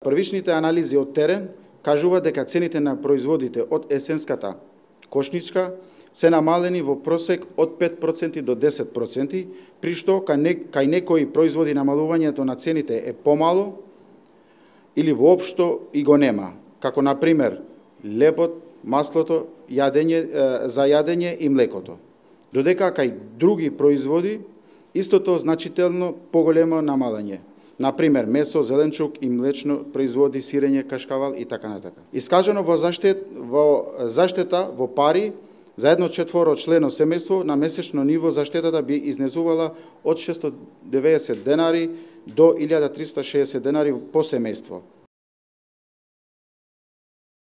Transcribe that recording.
Првичните анализи од терен кажуваат дека цените на производите од есенската кошничка се намалени во просек од 5% до 10%, при што кај некои производи намалувањето на цените е помало или воопшто и го нема, како на пример лебот, маслото, за јадење и млекото. Додека кај други производи истото значително поголемо намалање. На пример месо, зеленчук и млечно производи, сирење, кашкавал и така натака. Искажано во заштета во пари за едно четворочлено семејство на месечно ниво заштетата би изнесувала од 690 денари до 1360 денари по семејство.